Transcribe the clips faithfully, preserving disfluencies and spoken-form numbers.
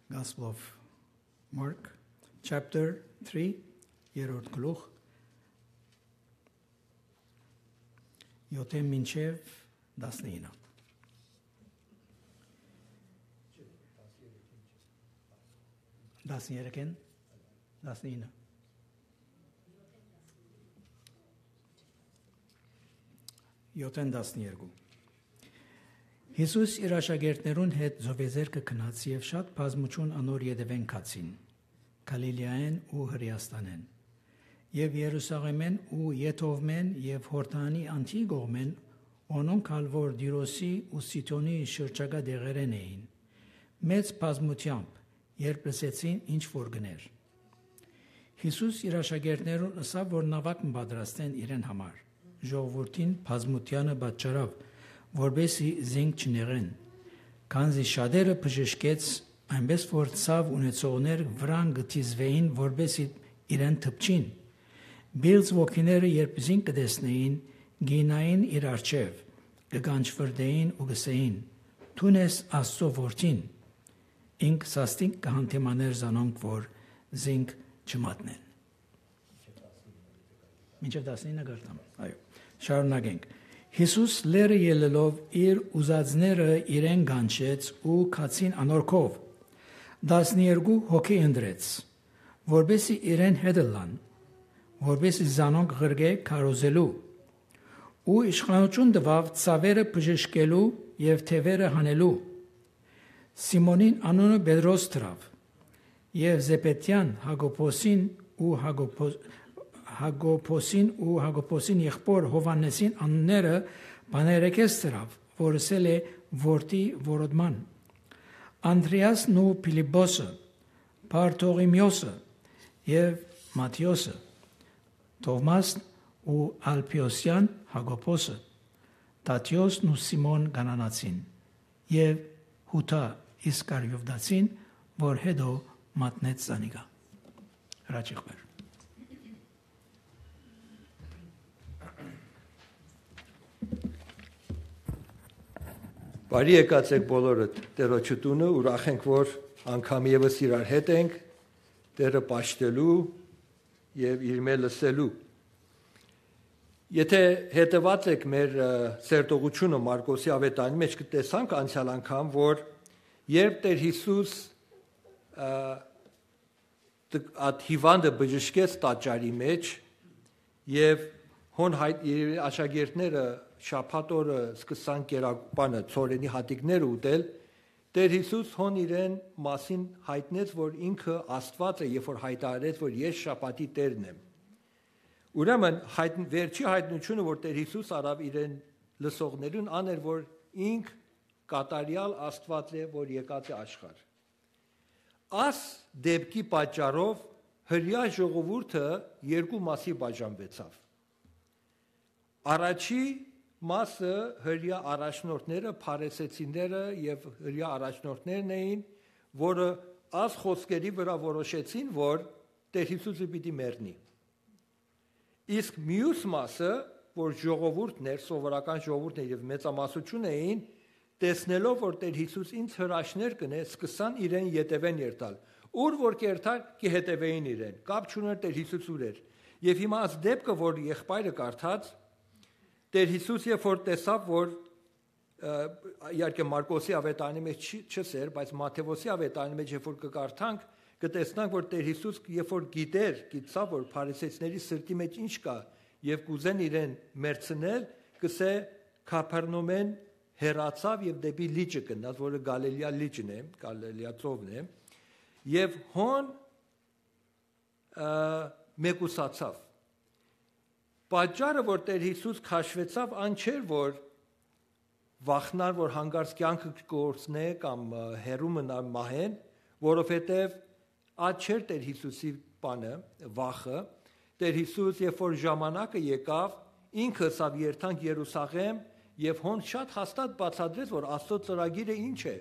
Gospel of Mark, chapter three, երրորդ գլուխ, յոթ մինչեւ տասնինը։ Տասներկէն, տասնինը։ Յոթ տասներկու։ Յիսուս իր աշակերտներուն հետ ծովեզերքը գնաց եւ շատ բազմութիւն անոր ետեւէն գացին, Գալիլիայէն ու Հրէաստանէն, եւ Երուսաղէմէն ու Եթովմէն եւ Յորդանի անդի կողմէն, անոնք ալ որ Տիրոսի ու Սիդոնի շրջակայ տեղերէն էին, մեծ բազմութեամբ, երբ լսեցին ինչ որ կ'ընէր։ Յիսուս իր աշակերտներուն ըսաւ որ նաւակ մը պատրաստեն իրեն համար, ժողովուրդին բազմութեանը պատճառաւ, որպէսզի զինք չնեղեն, քանզի շատերը բժշկեց, այնպէս որ ցաւ ունեցողներ վրան կը դիզուէին, որպէսզի իրեն դպչին։ Պիղծ ոգիները, երբ զինք կը տեսնէին, կ'իյնային իր առջեւ, կը կանչվրտէին ու կ'ըսէին. «Դուն ես Աստուծոյ որդին»։ Ինք սաստիկ կը հանդիմանէր զանոնք որ զինք չմատնեն։ Մինչեւ տասնինը կրթամ։ Այո, շարունակենք։ Յիսուս լեռը ելլելով իր ուզածները իրեն կանչեց ու գացին անոր քով։ Տասներկու հոգի ընտրեց, որպէսզի իրեն հետ ըլլան, որպէսզի զանոնք ղրկէ քարոզելու, ու իշխանութիւն տուաւ ցաւերը բժշկելու եւ թեւերը հանելու։ Սիմոնին անունը Պետրոս դրաւ, եւ Զեբեդեան Յակոբոսին ու Յակոբո-, Յակոբոսին ու Յակոբոսին եղբոր Յովհաննեսին անունները Պաներեքես դրաւ, որ ըսել է որդի որոտման, Անդրեասն ու Փիլիպպոսը, Բարթողիմիոսը եւ Մատթէոսը, Թովմասն ու Ալփիոսեան Յակոբոսը, Թադէոսն ու Սիմոն Կանանացին եւ Յուդա Իսկարիովտացին, որ յետոյ մատնեց զանիկա։ Հրաչիղբեր։ Բարի եկած եք բոլորը Տէրոջը տունը, ուրախ ենք որ անգամ եւս իրար հետ ենք, Տէրը պաշտելու եւ իրմէ լսելու։ Եթե հետեւած եք մեր, ը, սերտողութիւնը Մարկոսի Ավետարանի մէջ, կը տեսանք անցեալ անգամ որ երբ Տէր Յիսուս, ը, տ-, այդ հիւանդը բժշկեց տաճարի մէջ եւ հոն հայ-, իր աշակերտները շաբաթ օրը սկսան կերակպանը, ցորենի հատիկները ուտել, Տէր Յիսուս հոն իրեն մասին յայտնեց որ ինքը Աստուած է եւ որ յայտարարեց որ ես շաբաթի Տէրն եմ։ Ուրեմն հայտ-, վերջի յայտնությունը որ Տէր Յիսուս առաւ իրեն լսողներուն ան էր որ ինք կատարեալ Աստուած է որ եկած է աշխարհ։ Աս դեպքի պատճառով հրեայ ժողովուրդը երկու մասի բաժանուեցաւ։ Առաջի մասը հրեայ առաջնորդները, փարիսեցիները եւ հրեայ առաջնորդներն էին, որը աս խոսքերի վրայ որոշեցին որ Տէր Յիսուսը պիտի մեռնի։ Իսկ միւս մասը, որ ժողովուրդն էր, սովորական ժողովուրդն էր եւ մեծամասնութիւն էին, տեսնելով որ Տէր Յիսուս ինձ հրաշներ կ'ընէ, սկսան իրեն ետեւէն երթալ։ Ուր որ կ'երթար, կը հետեւէին իրեն, կապ չունէր Տէր Յիսուս ուր էր։ Եւ հիմա այս դեպքը որ եղբայրը կարդաց, Տէր Յիսուս երբ որ տեսաւ որ, ը, իհարկե Մարկոսի Ավետարանի մէջ չի, չըսեր, բայց Մատթէոսի Ավետարանի մէջ երբ որ կը կարդանք, կը տեսնանք որ Տէր Յիսուս երբ որ գիտեր, գիտցաւ որ փարիսեցիների սրտի մէջ ինչ կայ եւ կ'ուզեն իրեն մեռցնել, կ'ըսէ Քափեռնոմէն հեռացաւ եւ դէպի լիճը գնաց, որը Գալիլեայ լիճն է, Գալիլեայ ծովն է, եւ հոն, ը, մեկուսացաւ։ Պատճառը որ Տէր Յիսուս քաշուեցաւ ան չէր որ վախնար որ հանկարծ կեանքը կորցնէ կամ, ը, հեռու մնար մահէն, որովհետեւ այդ չէր Տէր Յիսուսի բանը, վախը։ Տէր Յիսուս երբ որ ժամանակը եկաւ, ինքը ըսաւ երթանք Երուսաղէմ եւ հոն շատ հաստատ բացատրեց որ Աստուծոյ ծրագիրը ինչ է։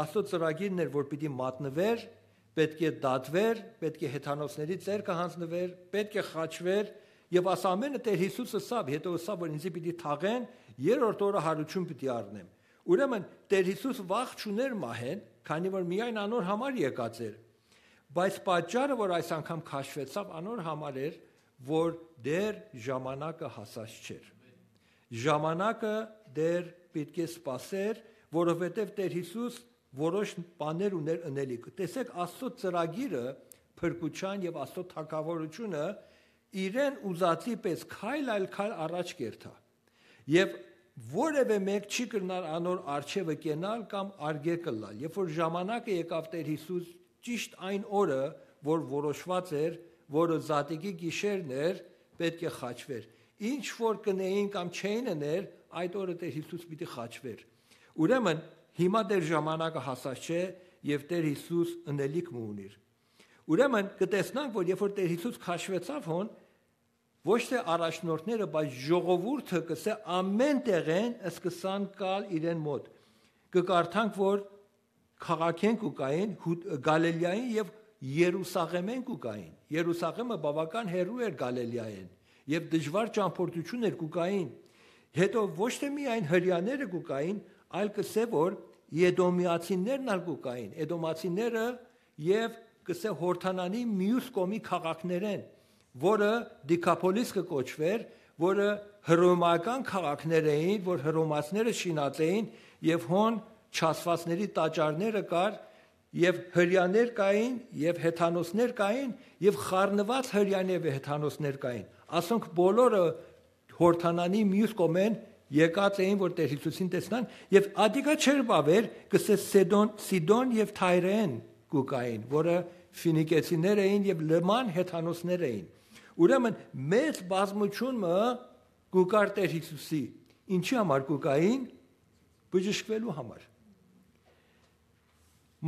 Աստուծոյ ծրագիրն էր որ պիտի մատնուէր, պէտք է դատուէր, պէտք է հեթանոսների ձեռքը յանձնուէր, պէտք է խաչուէր, եւ աս ամէնը Տէր Յիսուս ըսաւ, յետոյ ըսաւ որ ինձի պիտի թաղեն, երրորդ օրը յարութիւն պիտի առնեմ։ Ուրեմն Տէր Յիսուս վախ չունէր մահէն, քանի որ միայն անոր համար եկած էր։ Բայց պատճառը, որ այս անգամ քաշուեցաւ, անոր համար էր, որ դեռ ժամանակը հասած չէր։ Ժամանակը դեռ պիտի սպասէր, որովհետեւ Տէր Յիսուս որոշ բաներ ուներ ընելիք։ Տեսեք, Աստծո ծրագիրը, փրկութեան եւ Աստծո թագաւորութիւնը իրեն ուզածի պէս քայլ այլ քայլ առաջ կերթայ։ Եւ որեւէ մէկ չի կրնար անոր առջեւը կենալ կամ արգելք ըլլալ։ Երբ որ ժամանակը եկաւ Տէր Յիսուս, ճիշտ այն օրը, որ որոշուած էր, որը Զատիկի գիշերն էր, պէտք է խաչուէր։ Ինչ որ կ'ընէին կամ չէին ըներ, այդ օրը Տէր Յիսուս պիտի խաչուէր։ Ուրեմն, հիմա դեռ ժամանակը հասած չէ եւ Տէր Յիսուս ընելիք մը ունիր։ Ուրեմն, կը տեսնանք, որ երբ որ Տէր Յիսուս քաշուեցաւ հոն, ոչ թէ առաջնորդները, բայց ժողովուրդը, կ'ըսէ, ամէն տեղէն սկսան գալ իրեն մօտ։ Կը կարդանք, որ քաղաքէն կու գային, Յու-, Գալիլիային եւ Երուսաղէմէն կու գային։ Երուսաղէմը բաւական հեռու էր Գալիլիայէն եւ դժուար ճամբորդութիւն էր, կու գային։ Հետո ոչ թէ միայն Հրեաները կու գային, այլ կ'ըսէ, որ Էդոմեացիներն ալ կու գային։ Էդոմացիները եւ, կ'ըսէ, Յորդանանի միւս կողմի քաղաքներէն, որը Դիքափոլիս կը կոչուէր, որը հռոմական քաղաքներ էին, որ հռոմացիները շինած էին, եւ հոն չասվածների տաճարները կար, եւ Հրեաներ կային, եւ հեթանոսներ կային, եւ խառնուած Հրեաներ եւ հեթանոսներ կային։ Ասոնք բոլորը Յորդանանի միւս կողմէն եկած էին, որ Տէր Յիսուսին տեսնան, եւ ատիկա չէր բաւեր, կ'ըսէ, Սեդոն, Սիդոն եւ Թայրէն կու գային, որը Ֆինիկեցիներ էին եւ լման հեթանոսներ էին։ Ուրեմն, մեծ բազմութիւն մը կու գար Տէր Յիսուսի։ Ինչի համար կու գային? Բժշկուելու համար։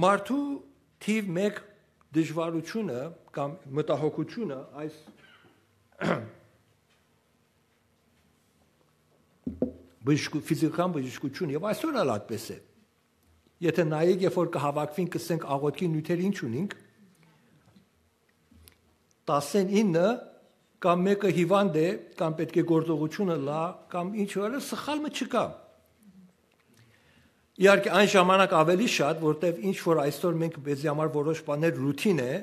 Մարդու թիւ մէկ դժուարութիւնը կամ մտահոգութիւնը այս բժշկու-, ֆիզիկական բժշկութիւն, եւ այսօր ալ այդպես է։ Եթե նայեք, երբ որ կը հաւաքուին, կ'ըսենք, աղօթքի նիւթեր ինչ ունինք, տասին իննը կամ մէկը հիվանդ է, կամ պէտք է գործողութիւնը լա, կամ ինչ որ է, սխալ մը չկայ։ Իհարկե, այն ժամանակ աւելի շատ, որտեւ ինչ որ այսօր մենք մեզի համար որոշ բաներ ռութին է,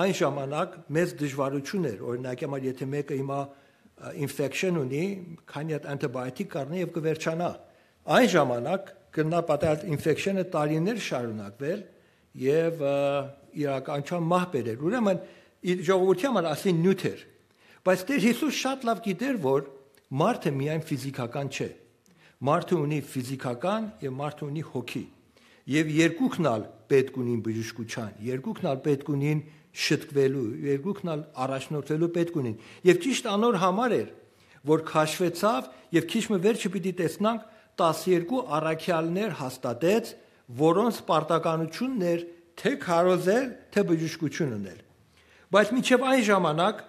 այն ժամանակ մեծ դժուարութիւն էր։ Օրինակ համար, եթե մէկը հիմա, ը, ինֆեքշն ունի, քանի հատ անտիբիոտիկ կառնի եւ կը վերջանայ։ Այն ժամանակ կրնայ պատահել ինֆեքշնը տարիներ շարունակուել եւ, ը, իրականության մահ բերել։ Ուրեմն, իր ժողովրդի համար ասին նիւթ էր։ Բայց Տէր Յիսուս շատ լաւ գիտեր, որ մարդը միայն ֆիզիկական չէ։ Մարդը ունի ֆիզիկական եւ մարդը ունի հոգի։ Եւ երկուքն ալ պէտք ունին բժշկութեան, երկուքն ալ պէտք ունին շտկուելու, երկուքն ալ առաջնորդվելու պէտք ունին։ Եւ ճիշտ անոր համար էր, որ քաշուեցաւ եւ քիչ մը վերջը պիտի տեսնանք, տասներկու առաքեալներ հաստատեց, որոնց պարտականութիւնն էր թէ քարոզել, թէ բժշկութիւն ընել։ Բայց մինչեւ այն ժամանակ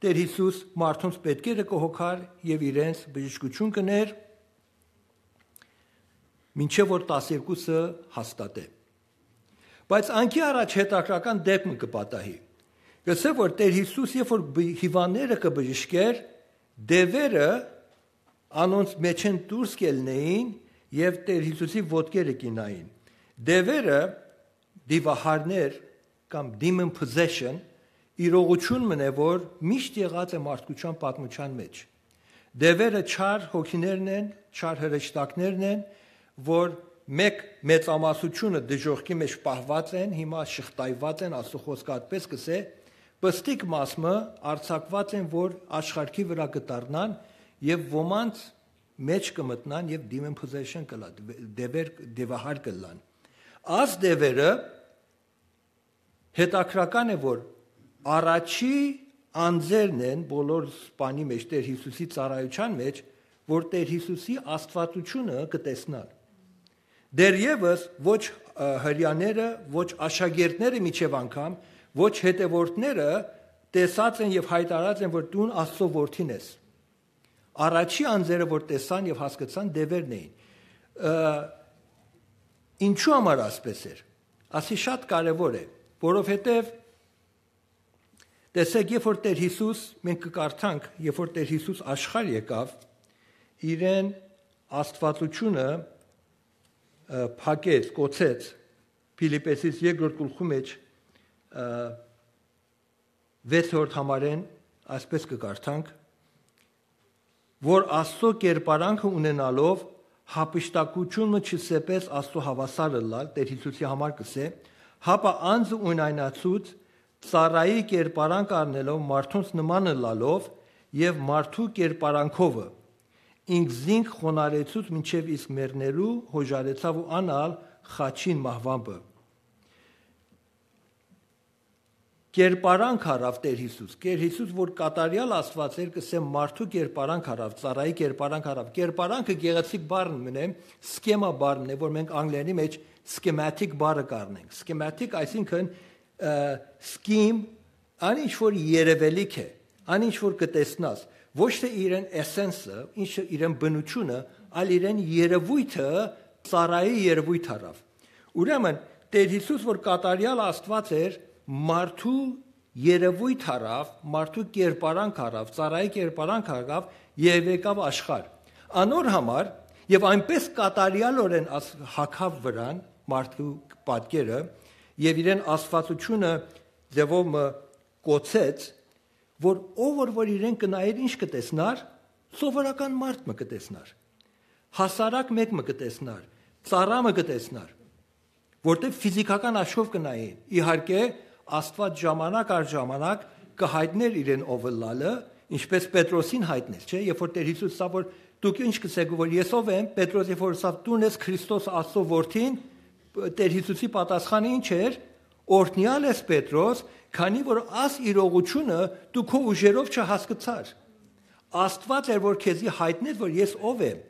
Տէր Յիսուս մարդոնց պէտքերը կը հոգար եւ իրենց բժշկութիւն կ'ընէր, մինչեւ որ տասներկուսը հաստատէ։ Բայց անկի առաջ հետաքրքրական դեպք մը կը պատահի։ Կ'ըսէ, որ Տէր Յիսուս, երբ որ բ-, հիվանդները կը բժշկէր, դեւերը անոնց մէջէն դուրս կ'ելնէին եւ Տէր Յիսուսի ոտքերը կ'ինային։ Դեւերը, դիւահարներ կամ demon possession, իրողութիւն մըն է, որ միշտ եղած է մարդկութեան պատմութեան մէջ։ Դեւերը չար հոգիներն են, չար հրեշտակներն են, որ մէկ մեծամասնութիւնը դժոխքի մէջ պահուած են, հիմա շղթայուած են, Աստուծոյ խօսքը այդպես կ'ըսէ, պստիկ մաս մը արձակուած են, որ աշխարհի վրայ կը դառնան եւ ոմանց մէջ կը մտնան եւ demon possession կ'ըլլան, դեւեր, դեւահար կ'ըլլան։ Աս դեւերը հետաքրքրական է, որ առաջի անձերն են բոլոր սպանի մէջ, Տէր Յիսուսի ծառայութեան մէջ, որ Տէր Յիսուսի աստվածութիւնը կը տեսնան։ Դեռեւս ոչ, ը, Հրեաները, ոչ աշակերտները մինչեւ անգամ, ոչ հետեւորդները տեսած են եւ յայտարարած են, որ դուն Աստուծոյ որդին ես։ Առաջի անձերը, որ տեսան եւ հասկցան, դեւերն էին։ Ը, ինչու համար ասպէս էր։ Ասի շատ կարեւոր է, որովհետեւ, տեսեք, երբ որ Տէր Յիսուս, մենք կը կարդանք, երբ որ Տէր Յիսուս աշխարհ եկաւ, իրեն աստվածությունը փակեց, կոչեց Փիլիպպեցիս երկրորդ գլխու մեջ, ը, վեցերորդ համարէն, այսպես կը կարդանք, որ Աստծո կերպարանքը ունենալով, հափշտակութիւնը չսեպեց Աստծո հաւասար ըլլալ, Տէր Յիսուսի համար կ'ըսէ, հապա անձը ունայնացուց, ծառայի կերպարանք առնելով, մարդոնց նման ըլլալով եւ մարդու կերպարանքովը, ինքզինք խոնարհեցուց մինչեւ իսկ մեռնելու հոժարեցաւ ու անալ խաչին մահուամբը։ Կերպարանք առաւ Տէր Յիսուս։ Տէր Յիսուս, որ կատարեալ Աստուած էր, կ'ըսեմ, մարդու կերպարանք առաւ, ծառայի կերպարանք առաv։ Կերպարանքը գեղեցիկ բառն մնե, սքեմա բառն է, որ մենք անգլերենի մեջ schematic բառը կ'առնենք։ Schematic, այսինքն, ը, scheme, ան ինչ որ երևելիք է, ան ինչ որ կը տեսնաս, ոչ թե իրեն էսենսը, ինչը իրեն բնությունը, այլ իրեն երևույթը, ծառայի երևույթ առաւ։ Ուրեմն, Տէր Յիսուս, որ կատարեալ Աստուած էր, մարդու երևույթ առաւ, մարդու կերպարանք առաւ, ծառայի կերպարանք առաւ եւ եկաւ աշխարհ։ Անոր համար, եւ այնպես կատարեալօրէն աս-, հագաւ վրան մարդու պատկերը, եւ իրեն աստվածությունը ձևով մը կոչեց, որ ով որ, որ իրեն կը նայէր, ինչ կը տեսնար, սովորական մարդ մը կը տեսնար, հասարակ մէկ մը կը տեսնար, ծառայ մը կը տեսնար, որտեղ ֆիզիքական աչքով կը նայէին։ Իհարկե, Աստուած ժամանակ առ ժամանակ կը յայտնէր իրեն ով ըլլալը, ինչպես Պետրոսին յայտնեց, չէ՞, երբ որ Տէր Յիսուս ասաւ, որ դուք ինչ կ'ըսէք, որ ես ով եմ, Պետրոս երբ որ ասաւ, «Դուն ես Քրիստոս, Աստծո Որդին», Տէր Յիսուսի պատասխանը ինչ էր, «Օրհնեալ ես, Պետրոս, քանի որ աս իրողությունը դու քո ուժերով չհասկցար։ Աստուած էր, որ քեզի յայտնեց, որ ես ով եմ»։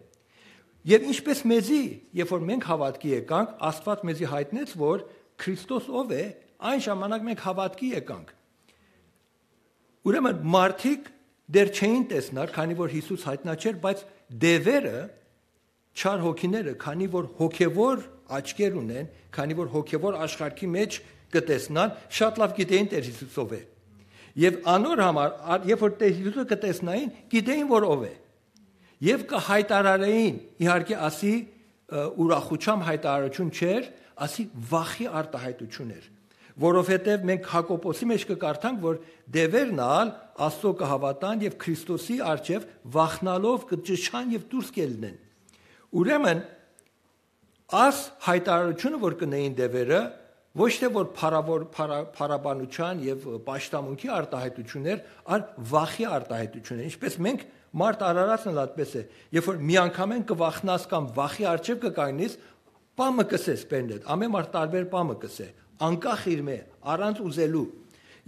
Եւ ինչպես մեզի, երբ որ մենք հաւատքի եկանք, Աստուած մեզի յայտնեց, որ Քրիստոս ով է, այն ժամանակ մենք հաւատքի եկանք։ Ուրեմն մարդիկ դեռ չէին տեսնար, քանի որ Յիսուս յայտնած չէր, բայց դեւերը, չար հոգիները, քանի որ հոգեվոր աչքեր ունեն, քանի որ հոգեվոր աշխարհի մեջ կը տեսնան, շատ լաւ գիտեին Տէր Յիսուս ով է։ Եւ անոր համար, ա-, երբ որ Տէր Յիսուսը կը տեսնային, գիտեին, որ ով է։ Եւ կը յայտարարէին, իհարկե, ասի, ը, ուրախութեան յայտարարութիւն չէր, ասի, վախի արտահայտութիւն էր, որովհետեւ մենք Յակոբոսի մեջ կը կարդանք, որ դեւերն ալ Աստծո կը հաւատան եւ Քրիստոսի առջեւ վախնալով կը ճչան եւ դուրս կ'ելնեն։ Ուրեմն, աս յայտարարութիւնը, որ կ'ընէին դեւերը, ոչ թե որ փառաւոր-, փառա-, փառաբանութեան եւ պաշտամունքի արտահայտութիւն էր, այլ վախի արտահայտութիւն էր։ Ինչպես մենք, մարդ արարածն ալ այդպես է, երբ որ միանգամէն կը վախնաս կամ վախի առջեւ կը կանգնիս, պա մը կ'ըսես բերնետ, ամէն մարդ տարբեր պա մը կ'ըսէ, անկախ իրմէ, առանց ուզելու։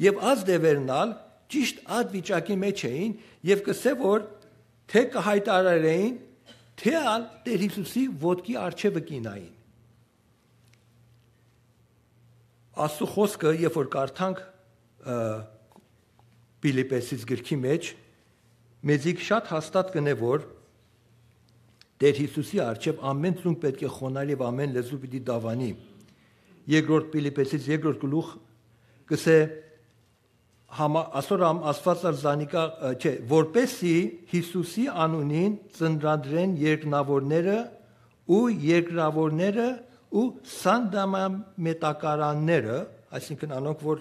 Եւ աս դեւերն ալ ճիշդ այդ վիճակի մեջ էին եւ կ'ըսէ, որ թէ կը յայտարարէին, թէ ալ Տէր Յիսուսի ոտքի առջեւը կ'իյնային։ Աստու խօսքը, երբ որ կարդանք, ը, Փիլիպպեցիս գրքի մեջ, մեզի շատ հաստատ կ'ընէ, որ Տէր Յիսուսի առջեւ ամէն ծունկ պէտք է խոնարհի եւ ամէն լեզու պիտի դաւանի։ Երկրորդ Փիլիպպեցիս երկրորդ գլուխ կ'ըսէ, համա-, ասոր համ Աստուած ալ զանիկա, ը, չէ, որպեսզի Յիսուսի անունին ծնրադրեն երկնաւորները ու երկրաւորները ու սանդամամետակարանները, այսինքն անոնք, որ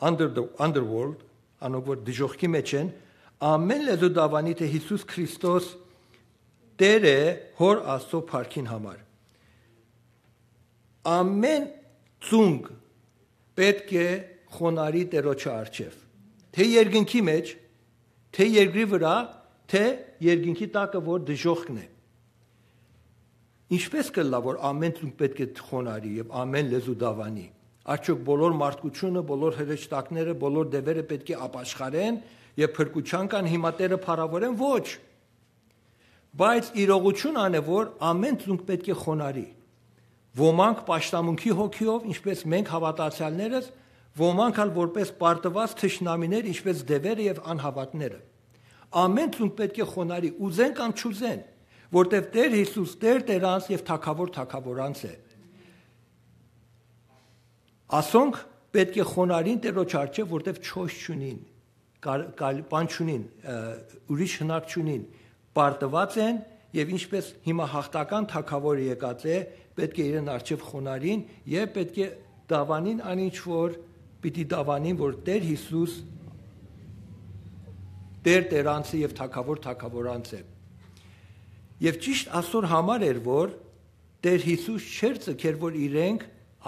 under the, underworld, անոնք, որ դժոխքի մեջ են, ամէն լեզու դաւանի, թէ Յիսուս Քրիստոս Տէր է Հօր Աստծո փառքին համար։ Ամէն ծունկ պէտք է խոնարհի Տէրոջը առջեւ, թէ երկնքի մեջ, թէ երկրի վրայ, թէ երկնքի տակը, որ դժոխքն է։ Ինչպե՞ս կ'ըլլայ, որ ամէն ծունկ պէտք է խոնարհի եւ ամէն լեզու դաւանի։ Արդյոք բոլոր մարդկությունը, բոլոր հրեշտակները, բոլոր դեւերը պէտք է ապաշխարեն եւ փրկութեան կան, հիմա Տէրը փառաւորեն։ Ոչ։ Բայց իրողութիւն ան է, որ ամէն ծունկ պէտք է խոնարհի։ Ոմանք պաշտամունքի հոգիով, ինչպես մենք հաւատացեալներս, ոմանք ալ որպես պարտուած թշնամիներ, ինչպես դեւերը եւ անհաւատները։ Ամէն ծունկ պէտք է խոնարհի, ուզեն կամ չուզեն, որտեւ Տէր Յիսուս Տէր Տէրանց եւ Թագաւոր Թագաւորանց է։ Ասոնք պէտք է խոնարհին Տէրոջ առջեւ, որտեւ չոյս չունին, կար-, կալ-, բան չունին, ը, ուրիշ հնարք չունին, պարտուած են Եւ ինչպես հիմա յաղթական թագաւորը եկած է, պէտք է իրեն առջեւ խոնարհին եւ պէտք է դաւանին անինչ որ պիտի դաւանին, որ Տէր Յիսուս Տէր Տէրանցը եւ Թագաւոր Թագաւորանց է։ Եւ ճիշտ ասոր համար էր, որ Տէր Յիսուս չէր ձգեր, որ իրենք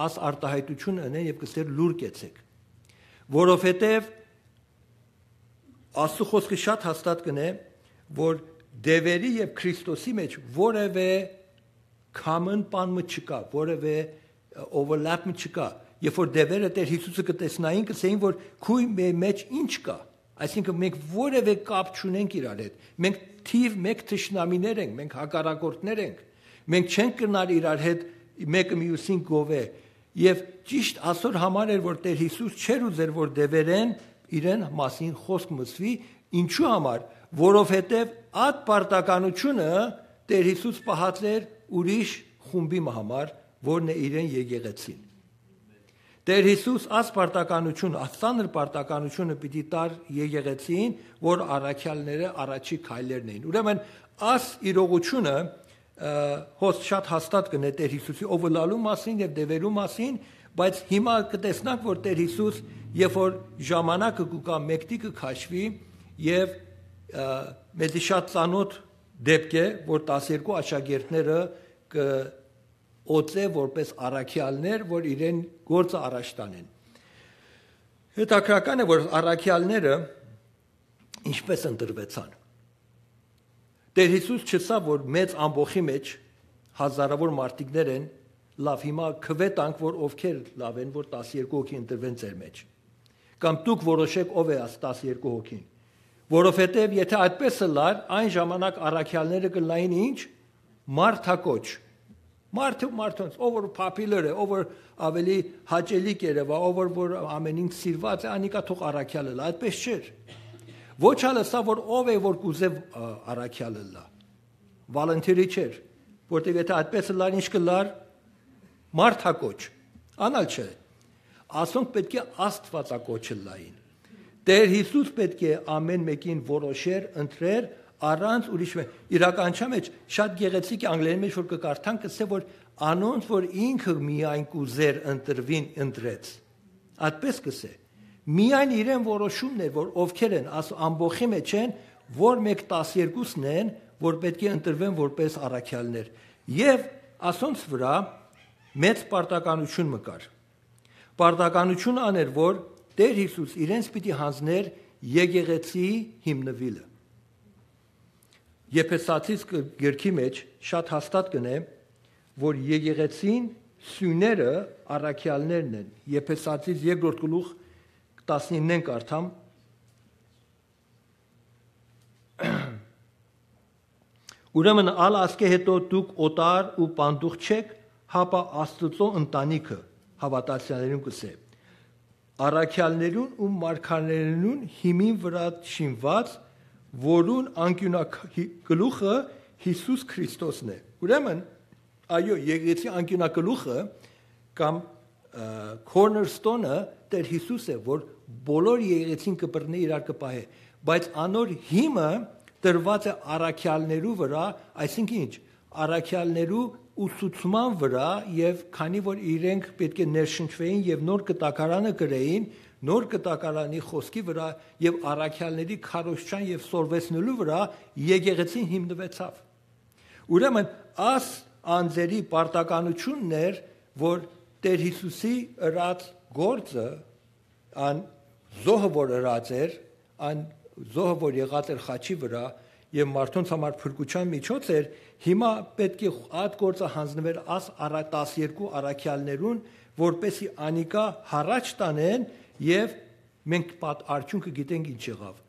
աս արտահայտություն ընեն եւ կսեր լուր կեցեք, որովհետեւ Աստու Խօսքը շատ հաստատ կ'ընէ, որ դեւերի եւ Քրիստոսի մէջ որեւէ common բան մը չկայ, որեւէ overlap մը չկայ։ Երբ որ դեւերը Տէր Յիսուսը կը տեսնային, կ'ըսէին, որ քու մե-, մէջ ինչ կայ, այսինքն մենք որեւէ կապ չունենք իրար հետ, մենք թիւ մէկ թշնամիներ ենք, մենք հակառակորդներ ենք, մենք չենք կրնար իրար հետ մէկը միւսին գովե։ Եւ ճիշտ ասոր համար էր, որ Տէր Յիսուս չէր ուզեր, որ դեւերէն իրեն մասին խօսք մսուի, ինչու համար, որովհետեւ այդ պարտականությունը Տէր Յիսուս պահած էր ուրիշ խումբի մը համար, որն է իրեն եկեղեցին։ Տէր Յիսուս աս պարտականություն, աս ծանր պարտականությունը պիտի տար եկեղեցին, որ առաքյալները առաջի քայլերն էին։ Ուրեմն աս իրողությունը, ը, հոս շատ հաստատ կ'ընէ Տէր Յիսուսի ով ըլլալու մասին եւ դեւերու մասին, բայց հիմա կտեսնանք, որ Տէր Յիսուս, երբ որ ժամանակը կու գայ, մեկդի կը քաշուի եւ, ը, մեզի շատ ծանոթ դեպք է, որ տասներկու աշակերտները կը օծէ որպես առաքյալներ, որ իրեն գործը առաջ տանեն։ Հետաքրական է, որ առաքյալները ինչպես ընտրուեցան։ Տէր Յիսուս չըսաւ, որ մեծ ամբոխի մէջ հազարավոր մարդիկներ են, լավ, հիմա քուէ տանք, որ ովքեր լաւ են, որ տասներկու հոգի ընտրուեն ձեր մէջ։ Կամ դուք որոշէք ով է աս տասներկու հոգին։ Որովհետեւ եթէ այդպես ըլլար, այն ժամանակ առաքյալները կ'ըլլային ինչ, մարդակոչ։ Մարդը, մարդոնց, ով որ popular է, ով որ ավելի հաճելի կ'երեւայ, ով որ, որ ամեն ինչ սիրված է, անիկա թող առաքյալ ըլլայ։ Այդպես չէր։ Ոչ ալ ըսաւ, որ ով է, որ կ'ուզէ, ա, առաքյալ ըլլայ։ Volunteer-ի չէր, որտեւ եթէ այդպես ըլլար, ինչ կ'ըլլար, մարդակոչ, անալ չէ։ Ասոնք պէտք է աստուածակոչ ըլլային։ Տէր Յիսուս պէտք է ամեն մէկին որոշեր, ընտրեր, առանց ուրիշ մէ-, իրականության մեջ շատ գեղեցիկ է, անգլերեն մեջ որ կը կարդան, կ'ըսէ, որ անոնց, որ ինքը միայն կ'ուզեր ընտրուին, ընտրեց։ Այդպես կ'ըսէ։ Միայն իրեն որոշումն էր, որ ովքեր են, աս ամբոխի մեջ են, որ մէկ տասներկուսն են, որ պէտք է ընտրվեն որպես առաքյալներ։ Եւ ասոնց վրայ մեծ պարտականություն մը կար։ Պարտականությունը ան էր, որ Տէր Յիսուս իրենց պիտի յանձներ եկեղեցի հիմնուիլը։ Եփեսացիս կ-, գրքի մեջ շատ հաստատ կ'ընէ, որ եկեղեցին սիւները առաքեալներն են։ Եփեսացիս երկրորդ գլուխ տասնիննեն կարդամ։ «Ուրեմն ալ ասկէ հետո դուք օտար ու պանդուխտ չէք, հապա Աստուծոյ ընտանիքը», հաւատացյալներուն կ'ըսէ, «առաքեալներուն ու մարգարէներուն հիմին վրայ շինուած, որուն անկիւնագլուխը Յիսուս Քրիստոսն է»։ Ուրեմն, այո, եկեղեցի անկիւնագլուխը կամ, ը, cornerstone-ը Տէր Յիսուս է, որ բոլոր եկեղեցին կը բռնի, իրար կը պահէ, բայց անոր հիմը տրուած է առաքեալներու վրայ, այսինքն ինչ, առաքեալներու ուսուցման վրայ, եւ քանի որ իրենք պէտք է ներշնչուէին եւ նոր կտակարանը կրէին, նոր կտակարանի խօսքի վրայ եւ առաքեալների քարոզչան եւ սորվեցնելու վրայ եկեղեցին հիմնուեցաւ։ Ուրեմն աս անձերի պարտականությունն էր, որ Տէր Յիսուսի ըրած գործը, ան զոհը որ ըրած էր, ան զոհը որ եղած էր խաչի վրայ եւ մարդոնց համար փրկության միջոց էր, հիմա պէտք է այդ գործը յանձնվեր աս արա-, տասներկու առաքեալներուն, որպեսզի անիկա յառաջ տանեն, եւ մենք պատ-, արդյունքը գիտենք ինչ եղաւ,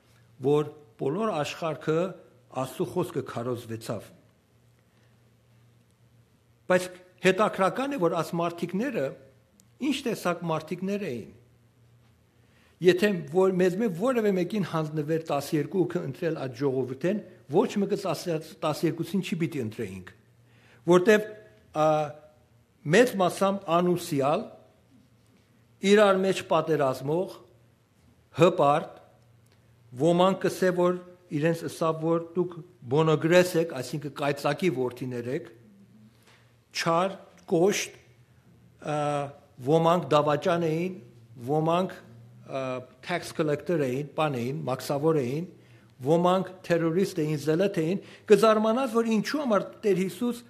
որ բոլոր աշխարհքը Աստուծոյ խօսքը քարոզվեցաւ։ Բայց հետաքրական է, որ աս մարդիկները ինչ տեսակ մարդիկներ էին։ Եթէ որ, մեզմէ որեւէ մէկին յանձնուեր տասներկուքը ընտրել այդ ժողովուրդէն, ոչ մէկը տասը-, տասներկուսին չի պիտի ընտրեինք, որտեւ, ա, մեծ մասամբ անուսիալ, իրար մեջ պատերազմող, հպարտ, ոմանք կ'ըսէ, որ իրենց ըսաւ, որ դուք բոնոգրես էք, այսինքն կայծակի որդիներ էք, չար, կոշտ, ը, ոմանք դավաճան էին, ոմանք, ը, tax collector էին, բան էին, մաքսավոր էին, ոմանք terrorist էին, zealot էին, կը զարմանաս, որ ինչու համար Տեր Յիսուս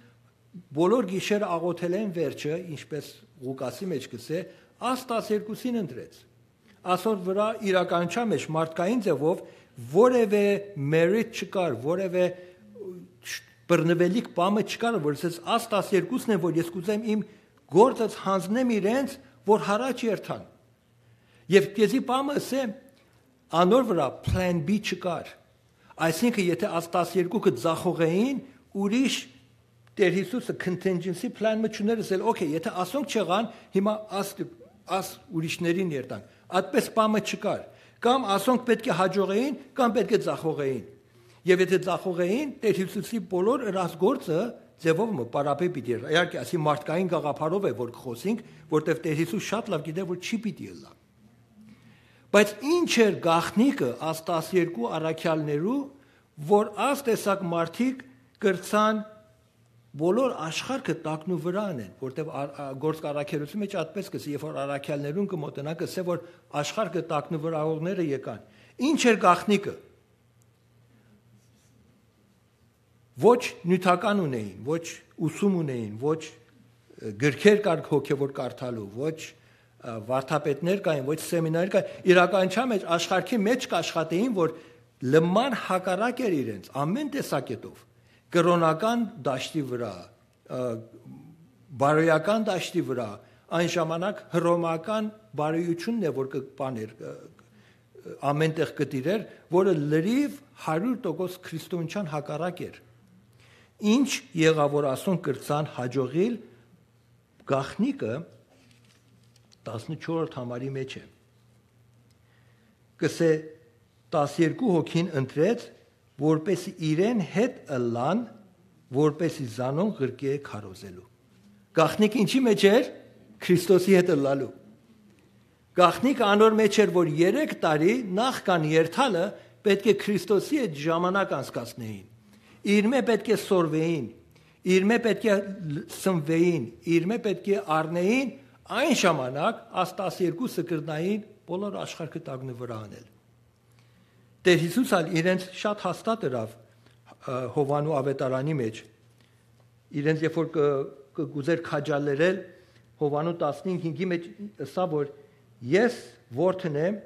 բոլոր գիշեր աղոթելէն վերջը, ինչպես Ղուկասի մեջ կսէ, աս տասներկուսին ընտրեց։ Ասոր վրայ իրականության մեջ մարդկային ձևով որևէ merit չկար, որևէ բռնուելիք բանը չկար, որ ասես, «Աս տասներկուսն են, որ ես կուզեմ իմ գործս յանձնեմ իրենց, որ յառաջ երթան»։ Եւ քեզի բանը ասեմ, անոր վրայ plan B չկար։ Այսինքն, եթե աս տասներկուքը ձախողեին, ուրիշ Տեր Յիսուսը contingency plan մը չուներ, ասել, «Okay, եթե ասոնք չեղան, հիմա աս, աս ուրիշներին երթանք»։ Այդպես բանը չկար։ Կամ ասոնք պէտք է հաջողեին, կամ պէտք է ձախողեին։ Եւ եթե ձախողեին, Տեր Յիսուսի բոլոր ըրած գործը ձևով մը պարապէ պիտի ըլլայ։ Իհարկե, ասի մարդկային գաղափարով է, որ կխոսենք, որտեւ Տեր Յիսուս շատ լաւ գիտէ, որ չի պիտի ըլլայ։ Բայց ինչ էր գաղտնիքը աս տասներկու առաքեալներու, որ աս տեսակ մարդիկ կրցան բոլոր աշխարհը տակնուվրան են, որտեւ ա-, ա-, գործք առաքելության մեջ այդպես կսի, երբ որ առաքյալներուն կը մոտենա, կսե, որ աշխարհը տակնուվրայողները եկան։ Ինչ էր գաղտնիքը։ Ոչ նիւթական ունեին, ոչ ուսում ունեին, ոչ, ը, գրքեր կար հոգեոր կարդալու, ոչ, ը, վարդապետներ կային, ոչ սեմինար կային։ Իրականության մեջ աշխարհի մեջ կաշխատեին, որ լման հակառակ էր իրենց, ամեն տեսակետով։ Կրօնական դաշտի վրայ, ը, բարոյական դաշտի վրայ, այն ժամանակ հռոմական բարոյությունն է, որ կը բաներ, ը, ամեն տեղ կը տիրեր, որը լրիվ հարյուր տոկոս քրիստոնեության հակառակ էր։ Ինչ եղա, որ ասոնք կրցան հաջողիլ, գաղտնիքը տասնչորսերորդ համարի մեջ է։ Կսե, տասներկու հոգին ընտրեց, որպեսզի իրեն հետ ըլլան, որպեսզի զանոնք ղրկէ քարոզելու։ Գաղտնիքը ինչի մեջ էր։ Քրիստոսի հետ ըլլալու։ Գաղտնիքը անոր մեջ էր, որ երեք տարի նախքան երթալը պէտք է Քրիստոսի հետ ժամանակ անցկացնեին։ Իրմէ պէտք է սորվեին, իրմէ պէտք է լ-, սնվեին, իրմէ պէտք է առնեին, այն ժամանակ աս տասներկուսը կրնային բոլոր աշխարհը տակնուվրայ անել։ Տեր Յիսուս ալ իրենց շատ հաստատ ըրաւ, ը, Յովհաննու աւետարանի մեջ։ Իրենց երբ որ կը, կը գուզեր քաջալերել, Յովհաննու տասնհինգի մեջ ըսաւ, որ «Ես որդն եմ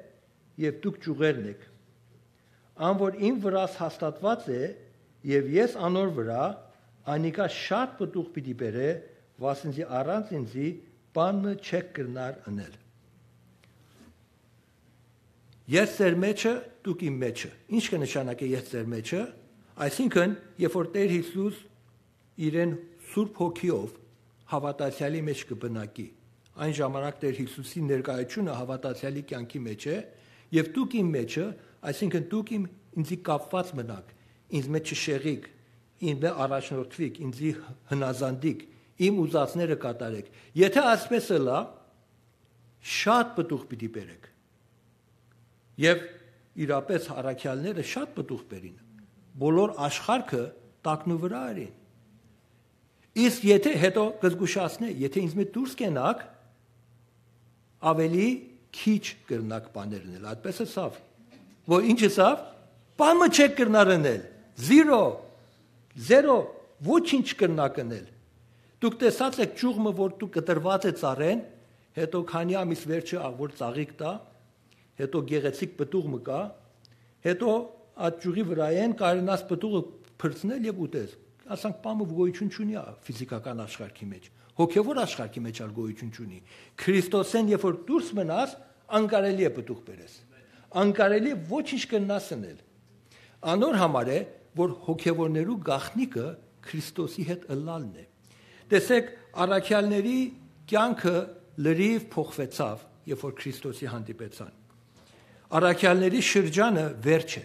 եւ դուք ճիւղերն էք։ Ան որ իմ վրաս հաստատուած է եւ ես անոր վրայ, անիկա շատ պտուղ պիտի բերէ, վասն զի առանց ինծի բան մը չէք կրնար ընել»։ «Ես ձեր մեջը, դուք իմ մեջը»։ Ինչ կը նշանակէ «ես ձեր մեջը»։ Այսինքն, երբ որ Տեր Յիսուս իրեն Սուրբ Հոգիով հաւատացեալի մեջ կը բնակի, այն ժամանակ Տեր Յիսուսի ներկայությունը հաւատացեալի կեանքի մեջ է, եւ «դուք իմ մեջը», այսինքն դուք իմ, ինձի կապուած մնաք, ինձ մէջ չշեղիք, ինձ մէ առաջնորդուիք, ինձի հնազանդիք, իմ ուզածները կատարեք։ Եթե այսպես ըլլայ, շատ պտուղ պիտի բերեք։ Եւ իրապէս առաքեալները շատ պտուղ բերին։ Բոլոր աշխարհը տակնուվրայ ըրին։ Իսկ եթե, հետո կը զգուշացնէ, եթե ինձ մէ դուրս կենաք, ավելի քիչ կրնաք բաներ ընել։ Այդպես ըսաւ։ Որ ինչ ըսաւ։ «Բան մը չէք կրնար ընել։ Զիրո, զերո, ոչինչ կրնաք ընել»։ Դուք տեսած էք ճյուղ մը, որ դուք կտրված է ծառեն, հետո քանի ամիս վերջը աղ որ ծաղիկ տայ, հետո գեղեցիկ պտուղ մը կայ, հետո այդ ճյուղի վրայէն կարենաս պտուղը փրցնել եւ ուտես։ Ասանք, բան մը գոյություն չունի ա ֆիզիքական աշխարհի մեջ, հոգեոր աշխարհի մեջ ալ գոյություն չունի։ Քրիստոսէն երբ որ դուրս մնաս, անկարելի է պտուղ բերես։ Անկարելի է, ոչինչ կրնաս ընել։ Անոր համար է, որ հոգեորներու գաղտնիքը Քրիստոսի հետ ըլլալն է։ Տեսեք, առաքյալների կեանքը լրիվ փոխուեցաւ, երբ որ Քրիստոսի հանդիպեցան։ Առաքյալների շրջանը վերջ է։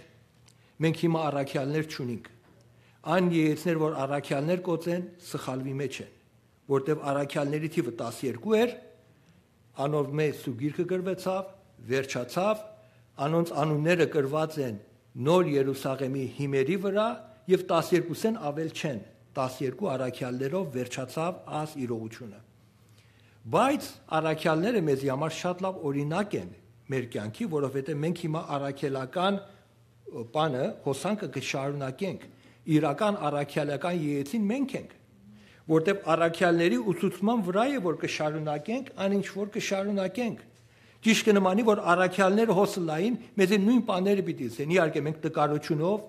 Մենք հիմա առաքյալներ չունենք։ Այն երեցներ, որ առաքյալներ կոծեն, սխալուի մեջ են, որտեւ առաքյալների թիվը տասներկու էր, անով մեծ սու գիրքը գրվեցաւ, վերջացաւ, անոնց անունները գրված են Նոր Երուսաղէմի հիմերի վրայ եւ տասներկուսէն աւել չեն, տասներկու առաքեալներով վերջացաւ այս իրողութիւնը։ Բայց առաքեալները մեզի համար շատ լաւ օրինակ են մեր կեանքի, որովհետեւ մենք հիմա առաքելական, ը, բանը, հոսանքը կը շարունակենք, իրական առաքելական եկեղեցին մենք ենք, որտեւ առաքեալների ուսուցման վրայ է, որ կը շարունակենք այն ինչ որ կը շարունակենք։ Ճիշդ կը նմանի, որ առաքեալները հոս ըլլային, մեզի նոյն բաները պիտի ըսեն, իհարկե մենք տկարութիւնով,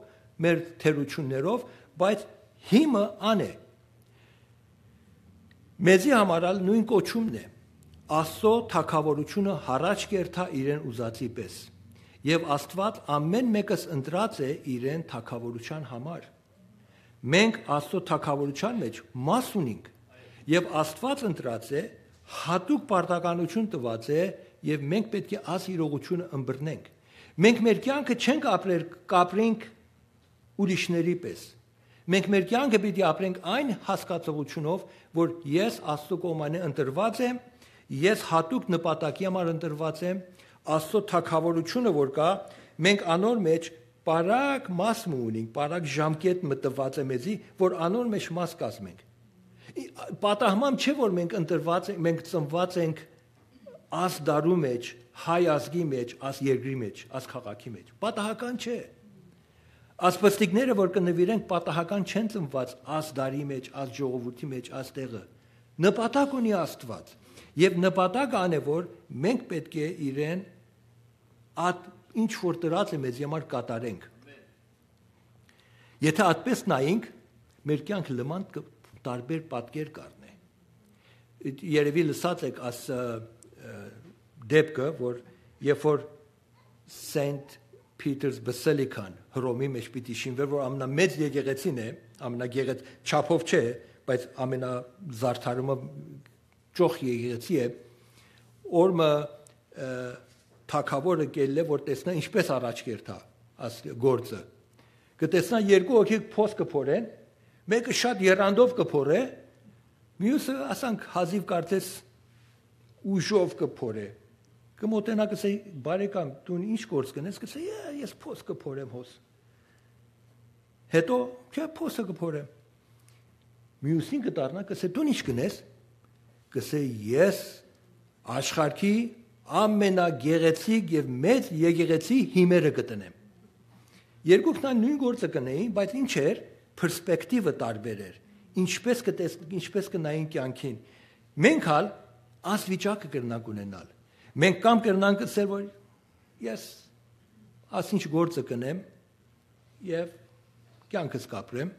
մեր թերութիւններով, բայց հիմը ան է։ Մեզի համար ալ նոյն կոչումն է։ Աստծո թագաւորութիւնը յառաջ կ'երթայ իրեն ուզածի պէս։ Եւ Աստուած ամէն մէկս ընտրած է իրեն թագաւորութեան համար։ Մենք Աստծո թագաւորութեան մէջ մաս ունինք եւ Աստուած ընտրած է, յատուկ պարտականութիւն տուած է եւ մենք պէտք է այս իրողութիւնը ըմբռնենք։ Մենք մեր կեանքը չենք ապրեր, կ'ապրենք ուրիշների պէս։ Մենք մեր կեանքը պիտի ապրենք այն հասկացողութիւնով, որ ես Աստծո կողմէ ընտրուած եմ, ես յատուկ նպատակի համար ընտրուած եմ, Աստծո թագաւորութիւնը որ կայ, մենք անոր մէջ պարագ մաս մը ունինք, պարագ ժամկետ մը տուած է մեզի, որ անոր մէջ մաս կազմենք։ Ի-, պատահմամ չէ, որ մենք ընտրուած ենք, մենք ծնուած ենք այս դարու մէջ, հայ ազգի մէջ, այս երկրի մէջ, այս քաղաքի մէջ։ Պատահական չէ։ Այս պստիկները, որ կը նուիրենք, պատահական չեն ծնուած այս դարի մէջ, այս ժողովուրդի մէջ, այս տեղը։ Նպատակ ունի Աստուած։ Եւ նպատակը ան է, որ մենք պէտք է իրեն ատ ինչ որ տրած է մեզի համար կատարենք։ Եթե այդպես նայենք, մեր կեանքը լման կը-, տարբեր պատկեր կ'առնէ։ Երևի լսած եք աս, ը, ը, դեպքը, որ երբ որ Saint Peter's Basilica-ն Հռոմի մէջ պիտի շինվեր, որ ամենամեծ եկեղեցին է, ամենագեղեց չափով չէ, բայց ամենազարդարումը ճոխ եկեղեցի է, օրը, ը, թագաւորը կ'ելլէ, որ տեսնայ ինչպես առաջ կ'երթայ աս գործը։ Կը տեսնայ երկու հոգի փոս կը փորեն, մէկը շատ եռանդով կը փորէ, միւսը, ասանք, հազիւ կարծես ուժով կը փորէ։ Կը մոտենայ, կ'ըսէ, «Բարեկամ, դուն ի՞նչ գործ կ'ընես»։ Կ'ըսէ, «Ե-, ես փոս կը փորեմ հոս»։ Հետո, «Չէ, փոսը կը փորեմ»։ Միւսին կը դառնայ, կ'ըսէ, «Դուն ի՞նչ կ'ընես»։ Կ'ըսէ, «Ես աշխարհի ամենագեղեցիկ եւ մեծ եկեղեցի հիմերը կը տնեմ»։ Երկուքն ալ նոյն գործը կ'ընէին, բայց ինչ էր, պերսպեկտիվը տարբեր էր։ Ինչպես կը տես-, ինչպես կը նային կեանքին։ Մենք ալ աս վիճակը կրնանք ունենալ։ Մենք կամ կրնանք ըսել, որ «Ես ասինչ գործը կ'ընեմ եւ կեանքս կ'ապրեմ»,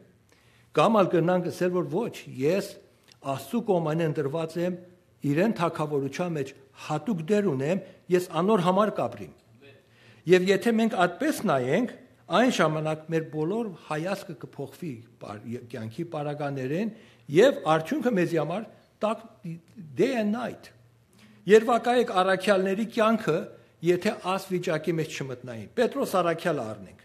կամ ալ կրնանք ըսել, որ «Ոչ, ես Աստծու կողմէ ընտրուած եմ, իրեն թագաւորութեան մէջ յատուկ դեր ունեմ, ես անոր համար կ'ապրիմ»։ Եվ եթե մենք այդպես նայենք, այն ժամանակ մեր բոլոր հայացքը կը փոխուի պար-, կեանքի պարագաներէն, եւ արդիւնքը մեզի համար տակ, day and night։ Երբակայեք առաքեալների կեանքը, եթե աս վիճակի մէջ չմտնային։ Պետրոս առաքեալը առնենք։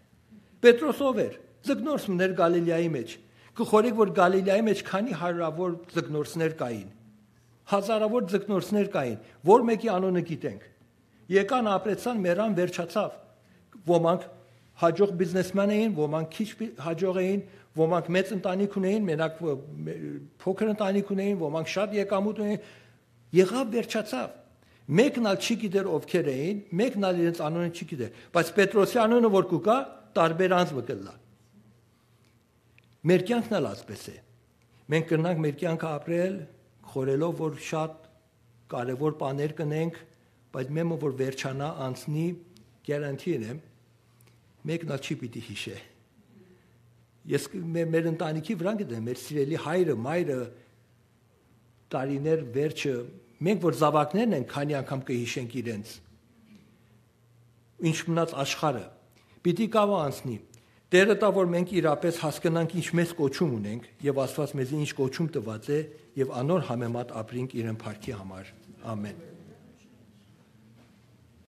Պետրոս ով էր։ Ձկնորս մըն էր Գալիլեայի մէջ։ Կը խորհէք, որ Գալիլեայի մէջ քանի հարիւրաւոր ձկնորսներ կային, հազարաւոր ձկնորսներ կային, որ մէկի անունը գիտենք։ Եկան, ապրեցան, մեռան, վերջացաւ։ Ոմանք յաջող բիզնեսմեն էին, ոմանք քիչ բի-, յաջող էին, ոմանք մեծ ընտանիք ունեին, մենակ, ը, մե-, փոքր ընտանիք ունեին, ոմանք շատ եկամուտ ունեին, եղաւ, վերջացաւ։ Մեկն ալ չի գիտեր ովքեր էին, մեկն ալ իրենց անունը չի գիտեր, բայց Պետրոսի անունը որ կու գայ, տարբեր անձ մը կ'ըլլայ։ Մեր կեանքն ալ այսպես է։ Մենք կրնանք մեր կեանքը ապրել, խորհելով, որ շատ կարեւոր բաներ կ'ընենք, բայց մեմը որ վերջանայ, անցնի, գիարանթի եմ, մեկն ալ չի պիտի յիշէ։ Ես կ-, մե-, մեր ընտանիքի վրան կը դնեմ, մեր սիրելի հայրը, մայրը, տարիներ վերջը, մենք որ զաւակներն ենք, քանի անգամ կը յիշենք իրենց, ինչ մնաց աշխարհը, պիտի գայ ու անցնի։ Տէրը տայ, որ մենք իրապէս հասկնանք ինչ մեծ կոչում ունենք եւ Աստուած մեզի ինչ կոչում տուած է, եւ անոր համեմատ ապրինք իրեն փառքի համար։ Ամեն։